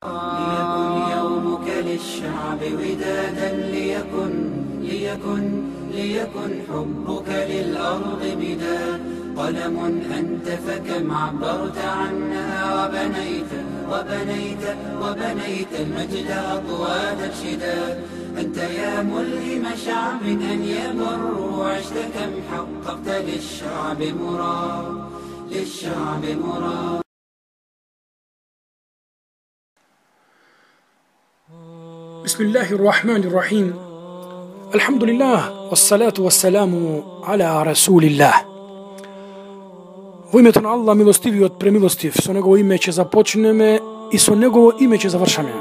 ليكن يومك للشعب ودادا ليكن حبك للأرض مداد قلم أنت فكم عبرت عنها وبنيت المجد أطوال الشداد أنت يا ملهم شعب أن يمر عشت كم حققت للشعب مراد بسم الله الرحمن الرحيم الحمد لله والصلاة والسلام على رسول الله. Во името на Аллах, милостивиот премилостив, со негово име ќе започнеме и со негово име ќе завршаме.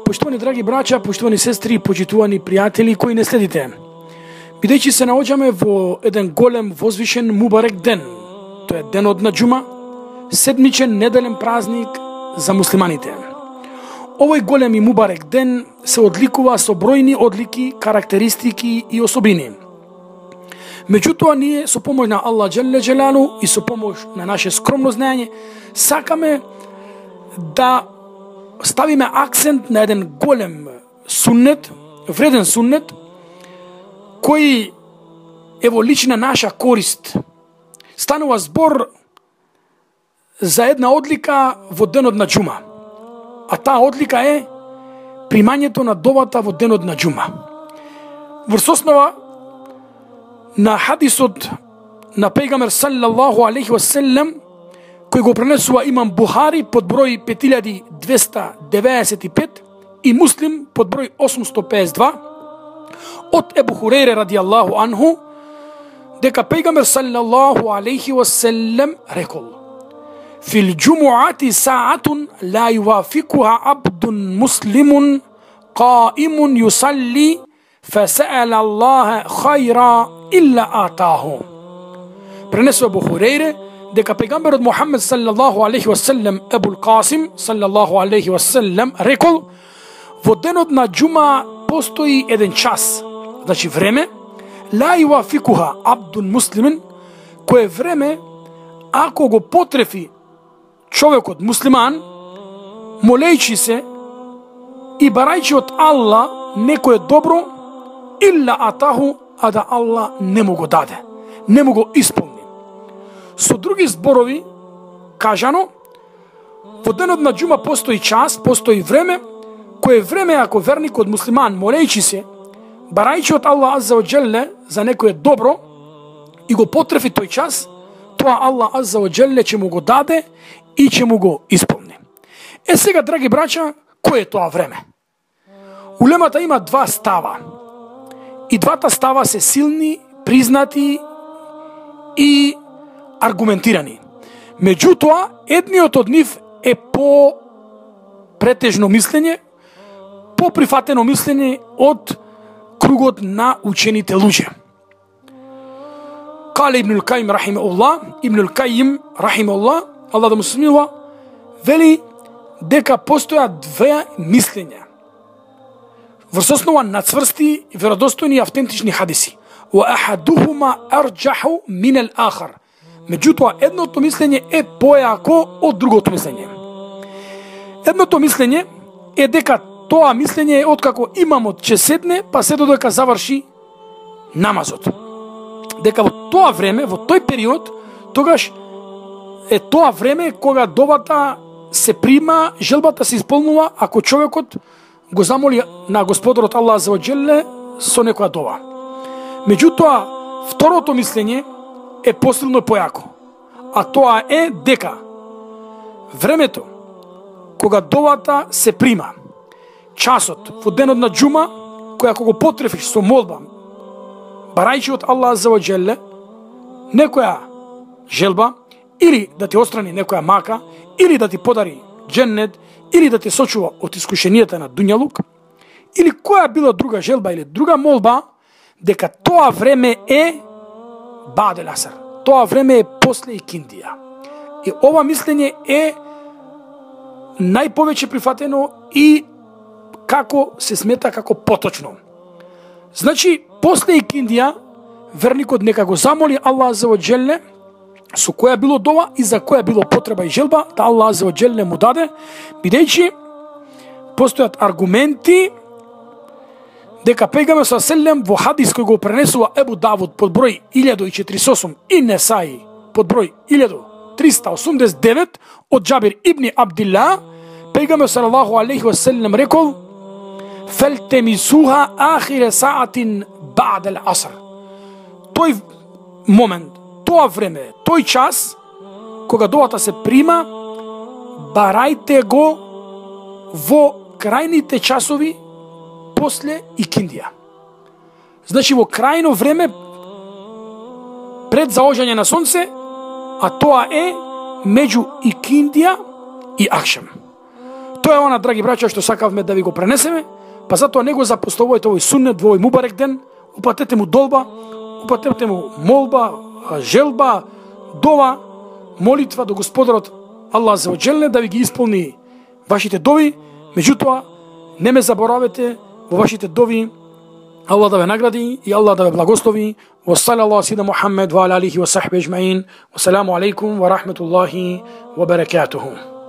Поштовани драги браќа, поштовани сестри, почитувани пријатели кои не следите, бидејќи се наоѓаме во еден голем возвишен мубарек ден, тоа е денот на џума, седмичен неделен празник за муслиманите. Овој голем и мубарек ден се одликува со бројни одлики, карактеристики и особини. Меѓутоа, ние со помош на Аллах Джелле Джелалу и со помош на наше скромно знаење сакаме да ставиме акцент на еден голем суннет, вреден суннет, кој е во лична наша корист. Станува збор за една одлика во денот на џума. А таа одлика е примањето на довата во денот на џума. Врз основа на хадисот на пејгамбер саллаллаху алейхи ва селем, кој го пренесува имам Бухари под број 5295 и Муслим под број 852, од Ебу Хурейре радијаллаху анху, дека пејгамбер саллаллаху алейхи ва селем рекол: في الجمعة ساعة لا يوافقها عبد مسلم قائم يصلي فسأل الله خيرا إلا آتاه. Пренесува Абу Хурейре дека пејгамберот Мухамед саллаллаху алейхи ва селем, Ебул Касим саллаллаху алейхи ва селем рекол: во денот на џума постои еден час, значи време, ла ювафикуха абдун муслимен, кое време ако го потрефи човекот муслиман, молејќи се и барајќи од Аллах некое добро, илла атаху, а да Аллах не му го даде, не му го исполни. Со други зборови кажано, во денот на џума постои час, постои време, кое време ако верникот муслиман молејќи се, барајќи од Аллах азза ва џелле за некое добро и го потрефи тој час, тоа Аллах азза ва џелле ќе му го даде и ќе му го исполни. Сега, драги браќа, кој е тоа време? Улемата има два става. И двата става се силни, признати и аргументирани. Меѓутоа, едниот од нив е по претежно мислење, по прифатено мислење од кругот на учените луѓе. Кале Ибнул Кајим рахимеуллах, Ибнул Кајим рахимеуллах, Аллах да му се смилува, вели дека постојат две мислења врз основа на цврсти, веродостојни и автентични хадиси. Wa ahaduhuma arjahu min al-akhar. Меѓутоа, едното мислење е појако од другото мислење. Едното мислење е дека тоа мислење е откако имамот ќе седне, па се додека заврши намазот. Дека во тоа време, во тој период, тогаш е тоа време кога довата се прима, желбата се исполнува ако човекот го замоли на Господарот Аллах азза ва џелле со некоја дова. Меѓутоа, второто мислење е посилно и појако, а тоа е дека времето кога довата се прима, часот во денот на џума, кој ако го потрефиш со молба, барајќи од Аллах азза ва џелле некоја желба, или да ти острани некоја мака, или да ти подари џеннет, или да те сочува од искушенијата на дуњалук, или која била друга желба или друга молба, дека тоа време е бадел асар. Тоа време е после икиндија. И ова мислење е најповеќе прифатено и како се смета како поточно. Значи, после икиндија, верникот нека го замоли Аллах азза ва џелле со која било дова и за која било потреба и желба, да Аллах азза ва џелле му даде, бидејќи постојат аргументи дека пејгамбер селем во хадис кој го пренесува Ебу Давуд под број 1048 и Несаи под број 1389 од Џабир ибн Абдилла, пејгамбер салаллаху алейхи ва селем рекол: "Фелтемисуха ахире саатин ба'д ал-аср." Тој момент, тоа време, тој час кога довата се прима, барајте го во крајните часови после икиндија. Значи во крајно време пред заоѓање на сонце, а тоа е меѓу икиндија и акшам. Тоа е она, драги браќа, што сакавме да ви го пренесеме, па затоа не го запоставувајте овој суннет во овој мубарек ден, упатете му долба, упатете му молба, желба, дова, молитва до Господарот Аллах за оџелне да ви ги исполни вашите дови. Меѓутоа, не ме заборавете во вашите дови. Аллах да ве награди и Аллах да ве благослови. Wa sallallahu ala Muhammad wa ala alihi wa sahbihi ajma'in. Wa salamu alaikum wa rahmatullahi wa barakatuhu.